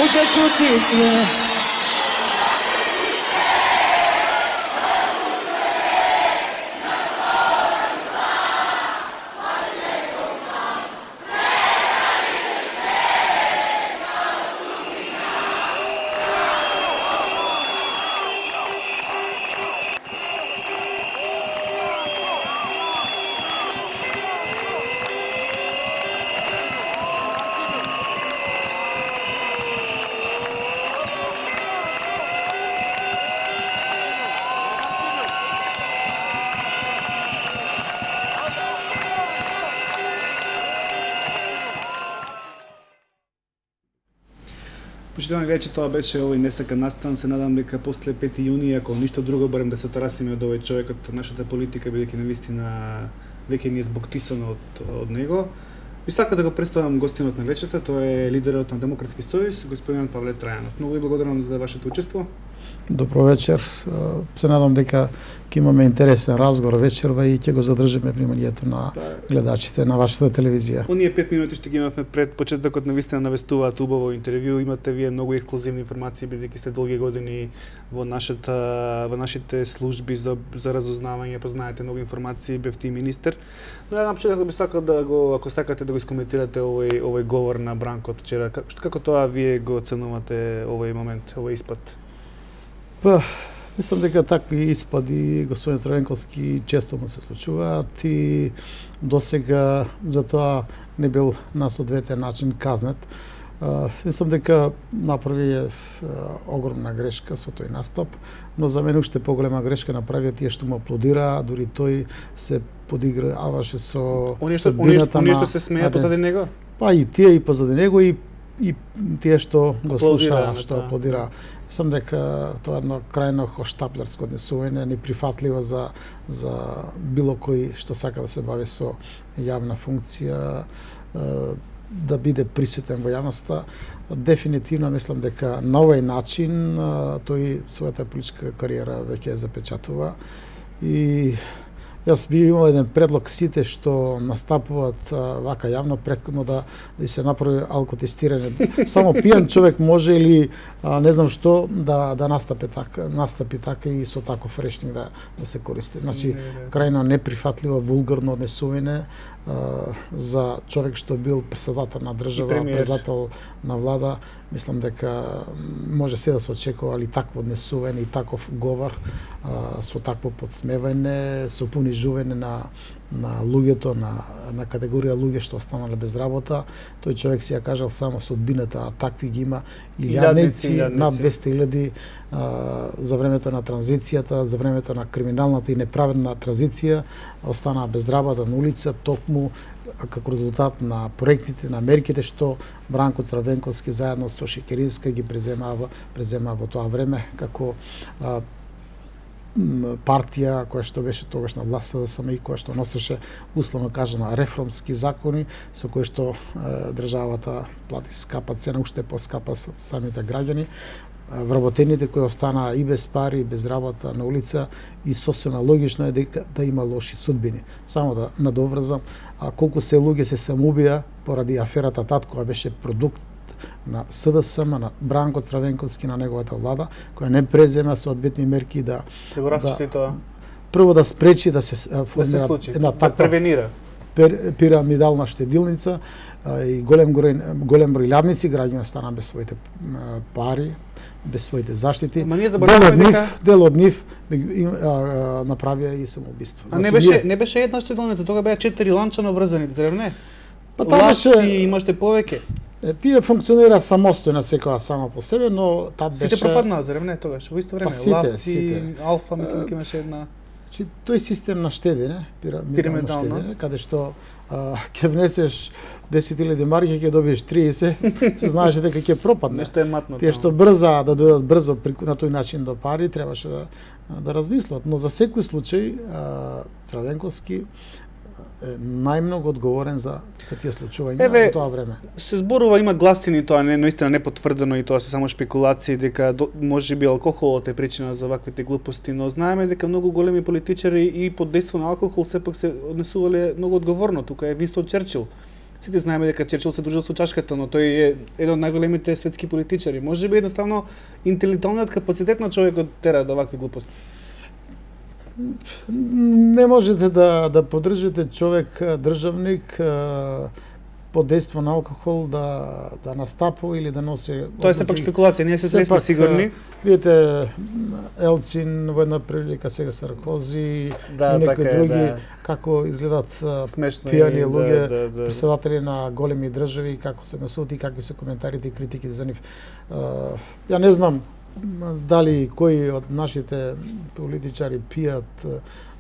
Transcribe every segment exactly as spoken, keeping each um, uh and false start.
Uzet ću ti sve. Почитувани вече, тоа беше овој несакан настан. Се надам дека после пети јуни, ако ништо друго, барем да се отрасиме од овој човек, од нашата политика, бидејќи навистина веќе ни е збоктисано од, од него. Би сакал да го представам гостинот на вечерта, тоа е лидерот на Демократски сојуз, господин Павле Трајанов. Многу ви благодарам за вашето учество. Добро вечер. Се надам дека ќе имаме интересен разговор вечерва и ќе го задржиме вниманието на гледачите на вашата телевизија. Оние пет минути што ги имавме пред почетокот навистина навестуваат убаво интервју. Имате вие многу ексклузивни информации, бидејќи сте долги години во нашата во нашите служби за за разузнавање, познаете многу информации, бевте и министер. Но ја на почетокот би сакал да го, ако сакате да го искоментирате овој овој говор на Бранко од вчера, како, како тоа вие го оценувате овој момент, овој испад? Па, мислам дека такви испади господин Црвенковски често му се случуваат и досега за тоа не бил на соодветен начин казнет. Uh, мислам дека направи огромна грешка со тој настап, но за мене уште поголема грешка направи тие што му аплодира, дури тој се подиграваше со оние што оние што се смеа позади него. Па и тие и позади него и и тие што го слушаа, што аплодира. Мислам дека тоа е едно крајно хоштаплерско однесување, неприфатливо за за било кој што сака да се бави со јавна функција, да биде присутен во јавноста. Дефинитивно мислам дека на овој начин тој својата политичка кариера веќе запечатува и јас би имал еден предлог сите што настапуваат а, вака јавно претходно да да се направи алкотестирање. Само пијан човек може или а, не знам што да да настапи така, настапи така и со таков речник да да се користи. Значи крајно неприфатливо, вулгарно однесување за човек што бил председател на држава, председател на влада. Мислам дека може се да се очекува али такво однесување и таков говор а, со такво подсмевање, со понижување на на луѓето, на на категорија луѓе што останале без работа. Тој човек си ја кажал само судбината, а такви ги има илјадници, над двесте илјади за времето на транзицијата, за времето на криминалната и неправедна транзиција, останаа без работа на улица, токму како резултат на проектите, на мерките што Бранко Црвенковски заедно со Шекеринска ги преземава, преземава во тоа време како а, партија која што беше тогаш на власт СДСМ и која што носеше условно кажано реформски закони со кои што е, државата плати скапа цена, уште поскапа самите граѓани, вработените кои останаа и без пари, и без работа на улица и сосема логично е дека да има лоши судбини. Само да надоврзам, а колку се луѓе се самоубија поради аферата ТАТ која беше продукт на СДСМ, на Бранко Црвенковски, на неговата влада, која не презема соодветни мерки да да тоа. Прво да спречи да се формира да се една да таква превенира пирамидална штедилница и голем број голем број лјадници, граѓани остана без своите пари, без своите заштити. Дел од нив, дека... дел од нив направија и самоубиство. А значи, не беше ние... не беше една штедилница, тога беа четири ланчано врзани, зарем не? Па таа беше имаше повеќе. Тие функционира самостојно секоја само по себе, но таа беше сите пропаднаа, зарем не тогаш во исто време? Па, сите, Лавци, сите. Алфа, мислам дека имаше една. Значи тој систем на штедење, пирамидално штедење, каде што а, ќе внесеш десет илјади марки, ќе добиеш триесет, се знаеше дека ќе пропадне. Нешто е матно. Тие што брза да дојдат брзо на тој начин до пари, требаше да да размислат, но за секој случај а, Црвенковски најмногу одговорен за се тие случувања во тоа време. Се зборува, има гласини, тоа не наистина не потврдено и тоа се само шпекулации дека можеби алкохолот е причина за ваквите глупости, но знаеме дека многу големи политичари и под дејство на алкохол сепак се однесувале многу одговорно. Тука е Винстон Черчил. Сите знаеме дека Черчил се дружил со чашката, но тој е еден од најголемите светски политичари. Може би едноставно интелектуалниот капацитет на човекот тера до вакви глупости. Не можете да да поддржите човек државник под дејство на алкохол да да настапува или да носи. Тоа е сепак спекулација, ние се не сме сигурни. Видите, Елцин во една прилика, сега Саркози да, и некои така други, е, да. Како изгледат смешно пијани и, луѓе, да, да, да. председатели на големи држави, како се насуат и какви се коментарите и критики за нив. Ја не знам дали кои од нашите политичари пијат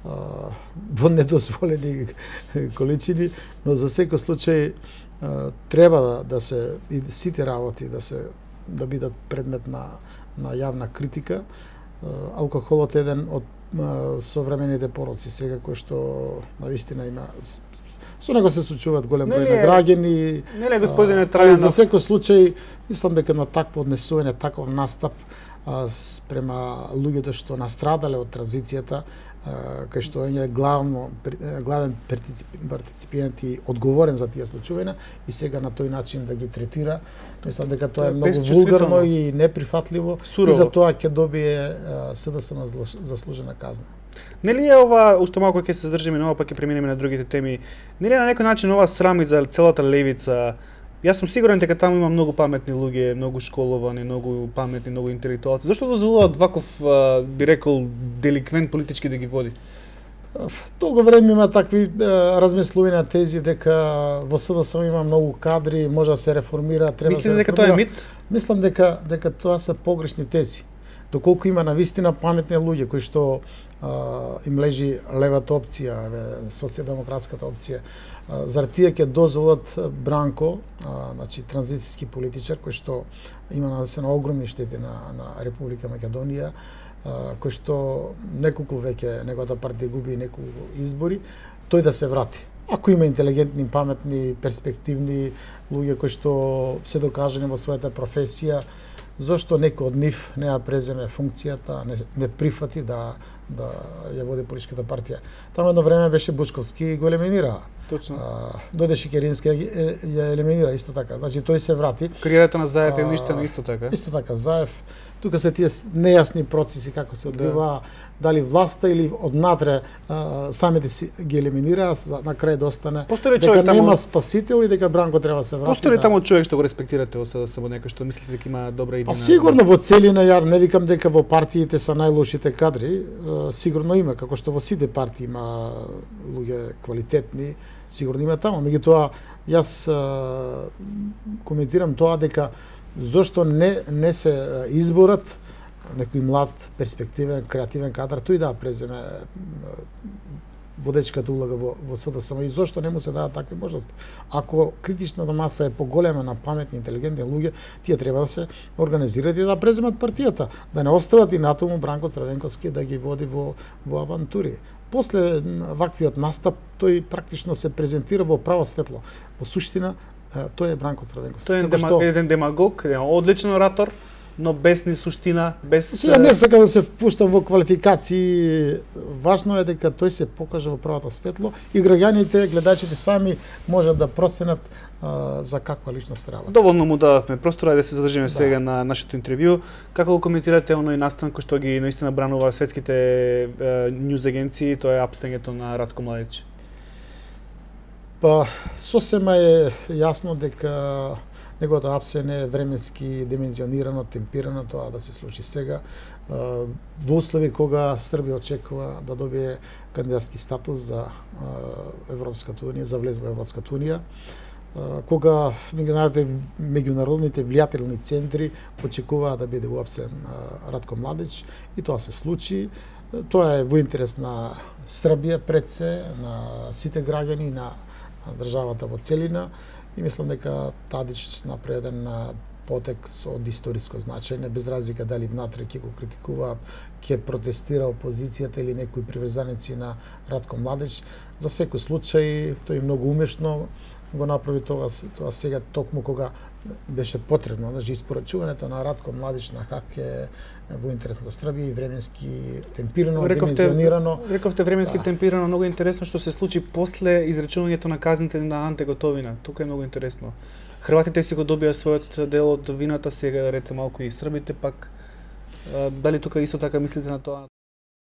во недозволени количини, но за секој случај треба да, да се и сите работи да се да бидат предмет на на јавна критика. Алкохолот е еден од современите пороци сега кој што навистина има со него се случуваат голем број на граѓани. Нели господине Трајанов, за секој случај мислам дека на такво однесување, таков настап спрема луѓето што настрадале од транзицијата, кај што е главно главен партиципиент и одговорен за тие случувања и сега на тој начин да ги третира, мислам дека тоа е многу вулгарно и неприфатливо. Сурово. И за тоа ќе добие СДСМ заслужена казна. Нели е ова, уште малку ќе се задржиме на ова, па ќе преминеме на другите теми, нели на некој начин ова срами за целата левица? Јас сум сигурен дека таму има многу паметни луѓе, многу школовани, многу паметни, многу интелектуалци. Зошто дозволуваат ваков, би рекол, деликвент политички да ги води? Долго време има такви размислувања тези дека во СДСМ има многу кадри, може да се реформира, треба да се реформира. Мислите дека тоа е мит? Мислам дека дека тоа се погрешни тези. Доколку има навистина паметни луѓе кои што а, им лежи левата опција, социјалдемократската опција, а, зар тие ќе дозволат Бранко, а, значи транзицијски политичар кој што има нанесено огромни штети на на Република Македонија, а, кој што неколку веќе неговата партија губи неколку избори, тој да се врати. Ако има интелигентни, паметни, перспективни луѓе кои што се докажани во својата професија, зошто некој од нив не ја преземе функцијата, не, не прифати да да ја води политичката партија. Таму едно време беше Бучковски и го елиминира. Точно. А, дојдеше Керински ја, ја елиминира исто така. Значи тој се врати. Кариерата на Заев е уништена исто така. Исто така Заев. Тука се тие нејасни процеси како се одвива, да. Дали власта или однатре а, самите си ги елиминираа, на крај да остане дека таму... нема спасител и дека Бранко треба да се врати. Постои ли да... таму човек што го респектирате во СДСМ, некој што мислите дека има добра идеја? Па сигурно во целина, ја не викам дека во партиите се најлошите кадри, сигурно има, како што во сите партии има луѓе квалитетни, сигурно има таму. Меѓутоа, јас а, коментирам тоа дека зошто не не се изборат некој млад, перспективен, креативен кадар, тој да преземе водечката улога во, во СДСМ и зошто не му се дадат такви можности. Ако критичната маса е поголема на паметни, интелигентни луѓе, тие треба да се организираат и да преземат партијата, да не остават и натаму Бранко Црвенковски да ги води во во авантури. После ваквиот настап тој практично се презентира во право светло. Во суштина тој е Бранко Црвенковски. Тој е дема, што... еден демагог, еден одличен оратор, но без ни суштина, без... Сега не сакам да се впуштам во квалификации. Важно е дека тој се покаже во правото светло и граѓаните, гледачите сами можат да проценат а, за каква личност работа. Доволно му дадавме простора да се задржиме да. сега на нашето интервју. Како го коментирате оној настан кој што ги наистина бранува светските е, ньюз агенции, тоа е апстењето на Ратко Младич? Па, сосема е јасно дека неговото апсење е временски димензионирано, темпирано, тоа да се случи сега, во услови кога Србија очекува да добие кандидатски статус за Европската унија, за влез во Европската унија, кога меѓународните влијателни центри очекуваат да биде уапсен Ратко Младич, и тоа се случи. Тоа е во интерес на Србија пред се, на сите граѓани, на државата во целина, и мислам дека Тадич направи еден потек од историско значење, без разлика дали внатре ќе го критикуваат, ќе протестира опозицијата или некои приврзаници на Ратко Младич. За секој случај тој многу умешно го направи тоа, тоа сега токму кога беше потребно, значи испорачувањето на Радко Младич на ХАК е во интерес на Србија и временски темпирано, димензионирано. Рековте временски да. темпирано, многу интересно што се случи после изречувањето на казните на Анте Готовина. Тука е многу интересно. Хрватите си го добија својот дел од вината, сега рете малку и србите, пак дали тука исто така мислите на тоа?